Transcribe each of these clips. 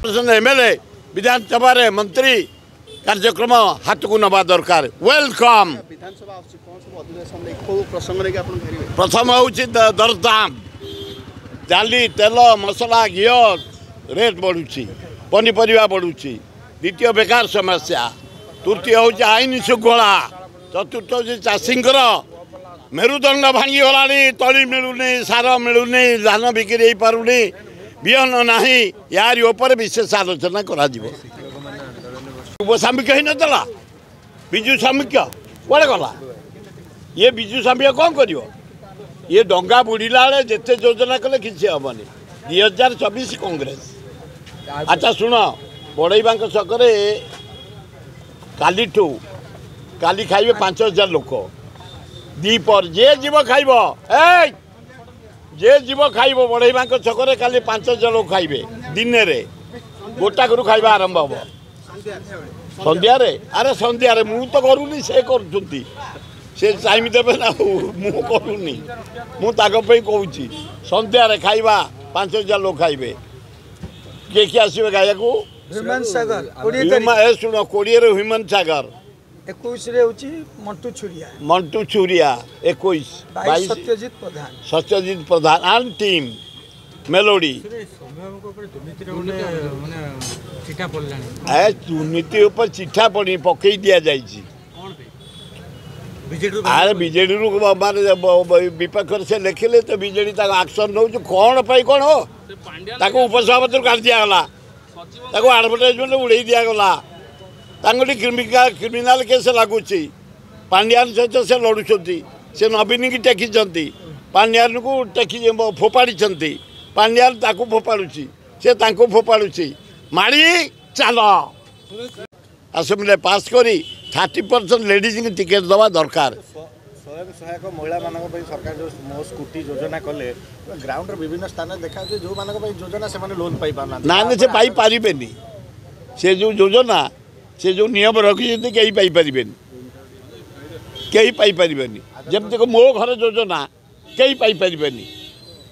50% MLA ବିଧାନସଭାରେ ମନ୍ତ୍ରୀ କାର୍ଯ୍ୟକ୍ରମ ହାତକୁ ନେବା ଦରକାର। Welcome. ପ୍ରଥମ ହେଉଛି ଦରଦାମ, ଡାଲି, ତେଲ, ମସଲା, ଘିଅ ରେଟ୍ ବଢ଼ୁଛି, ପନିପରିବା ବଢ଼ୁଛି। ଦ୍ୱିତୀୟ ବେକାର ସମସ୍ୟା, ତୃତୀୟ ହେଉଛି ଆଇନ ଶୃଙ୍ଖଳା, ଚତୁର୍ଥ ହେଉଛି ଚାଷୀଙ୍କର ମେରୁଦଣ୍ଡ ଭାଙ୍ଗିଗଲାଣି, ତଳି ମିଳୁନି, ସାର ମିଳୁନି, ଧାନ ବିକ୍ରି ହେଇପାରୁନି, ବିହନ ନାହିଁ। ୟାରି ଉପରେ ବିଶେଷ ଆଲୋଚନା କରାଯିବ। ଯୁବ ସାମ୍ମୁଖ୍ୟ ହେଇନଥିଲା, ବିଜୁ ସାମ୍ମୁଖ୍ୟ କୁଆଡ଼େ ଗଲା? ଇଏ ବିଜୁ ସାମ୍ମୁଖ୍ୟ କ'ଣ କରିବ? ଇଏ ଡଙ୍ଗା ବୁଡ଼ିଲା ବେଳେ ଯେତେ ଯୋଜନା କଲେ କିଛି ହେବନି। 2024 କଂଗ୍ରେସ। ଆଚ୍ଛା ଶୁଣ, ବଡ଼େଇବାଙ୍କ ଛକରେ କାଲିଠୁ କାଲି ଖାଇବେ 5000 ଲୋକ। ଦ୍ୱିପହର ଯିଏ ଯିବ ଖାଇବ, ଏଇ ଯିଏ ଯିବ ଖାଇବ। ବଡ଼େଇବାଙ୍କ ଛକରେ କାଲି 5000 ଲୋକ ଖାଇବେ। ଦିନରେ ଗୋଟାକରୁ ଖାଇବା ଆରମ୍ଭ ହେବ ସନ୍ଧ୍ୟାରେ। ଆରେ ସନ୍ଧ୍ୟାରେ ମୁଁ ତ କରୁନି, ସେ କରୁଛନ୍ତି, ସେ ଟାଇମ୍ ଦେବେ ନା, ମୁଁ କରୁନି, ମୁଁ ତାଙ୍କ ପାଇଁ କହୁଛି। ସନ୍ଧ୍ୟାରେ ଖାଇବା 5000 ଲୋକ ଖାଇବେ। କିଏ କିଏ ଆସିବେ ଖାଇବାକୁ? ଶୁଣ, 20ରେ ହ୍ୟୁମାନ ସାଗର, 21ରେ ହେଉଛି Mantu Chhuria, Mantu Chhuria 21, 22 Satyajit Pradhan, Satyajit Pradhan and team melody. ଏ ଦୁର୍ନୀତି ଉପରେ ଚିଠା ପଡ଼ି ପକେଇ ଦିଆଯାଇଛି। ଆରେ ବିଜେଡ଼ିରୁ ମାନେ ବିପକ୍ଷରେ ସେ ଲେଖିଲେ ତ ବିଜେଡ଼ି ତାକୁ ଆକ୍ସନ୍ ନେଉଛି କ'ଣ ପାଇଁ? କ'ଣ ତାକୁ ଉପସଭାପତିରୁ କାଢ଼ି ଦିଆଗଲା, ତାକୁ ଆଡ଼ଭର୍ଟାଇଜମେଣ୍ଟ ଉଡ଼େଇ ଦିଆଗଲା, ତାଙ୍କଠି କ୍ରିମିନାଲ କେସ୍ ଲାଗୁଛି। ପାଣ୍ଡିଆନ ସହିତ ସେ ଲଢ଼ୁଛନ୍ତି, ସେ ନବୀନକି ଟେକିଛନ୍ତି, ପାଣ୍ଡିଆନକୁ ଟେକି ଫୋପାଡ଼ିଛନ୍ତି, ପାଣ୍ଡିଆନ ତାକୁ ଫୋପାଡ଼ୁଛି, ସେ ତାଙ୍କୁ ଫୋପାଡ଼ୁଛି। ମାଡ଼ି ଚାଲ। ଆସେମ୍ବଲିରେ ପାସ୍ କରି 30% ଲେଡ଼ିଜ୍ଙ୍କୁ ଟିକେଟ୍ ଦେବା ଦରକାର। ସ୍ୱୟଂ ସହାୟକ ମହିଳାମାନଙ୍କ ପାଇଁ ସରକାର ଯେଉଁ ମୋ ସ୍କୁଟି ଯୋଜନା କଲେ, ଗ୍ରାଉଣ୍ଡର ବିଭିନ୍ନ ସ୍ଥାନରେ ଦେଖାଯାଉଛି ଯେଉଁମାନଙ୍କ ପାଇଁ ଯୋଜନା ସେମାନେ ଲୋନ୍ ପାଇପାରୁନାହାନ୍ତି। ନା ନା, ସେ ପାଇପାରିବେନି। ସେ ଯେଉଁ ଯୋଜନା, ସେ ଯେଉଁ ନିୟମ ରଖିଛନ୍ତି, କେହି ପାଇପାରିବେନି, କେହି ପାଇପାରିବେନି। ଯେମିତିକି ମୋ ଘର ଯୋଜନା କେହି ପାଇପାରିବେନି,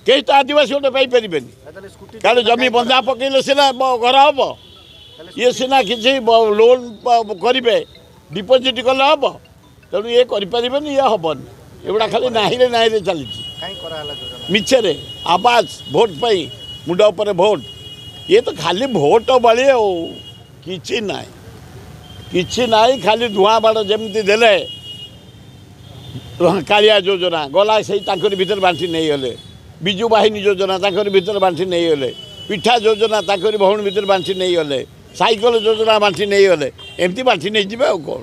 କେହି ତ ଆଦିବାସୀ ଗୋଟେ ପାଇପାରିବେନି। କାରଣ ଜମି ବନ୍ଧା ପକେଇଲେ ସିନା ଘର ହେବ, ଇଏ ସିନା କିଛି ଲୋନ୍ କରିବେ, ଡିପୋଜିଟ୍ କଲେ ହେବ। ତେଣୁ ଇଏ କରିପାରିବେନି, ଇଏ ହେବନି। ଏଗୁଡ଼ା ଖାଲି ନାହିଁରେ ନାହିଁରେ ଚାଲିଛି, ମିଛରେ ଆବାଜ, ଭୋଟ ପାଇଁ, ମୁଣ୍ଡ ଉପରେ ଭୋଟ। ଇଏ ତ ଖାଲି ଭୋଟ ବଳି, ଆଉ କିଛି ନାହିଁ, କିଛି ନାହିଁ, ଖାଲି ଧୂଆଁ ବାଡ଼। ଯେମିତି ଦେଲେ କାଳିଆ ଯୋଜନା ଗଲା, ସେଇ ତାଙ୍କରି ଭିତରେ ବାଣ୍ଟି ନେଇଗଲେ। ବିଜୁ ବାହିନୀ ଯୋଜନା ତାଙ୍କରି ଭିତରେ ବାଣ୍ଟି ନେଇଗଲେ, ପିଠା ଯୋଜନା ତାଙ୍କରି ଭଉଣୀ ଭିତରେ ବାଣ୍ଟି ନେଇଗଲେ, ସାଇକେଲ ଯୋଜନା ବାଣ୍ଟି ନେଇଗଲେ। ଏମିତି ବାଣ୍ଟି ନେଇଯିବେ ଆଉ କ'ଣ।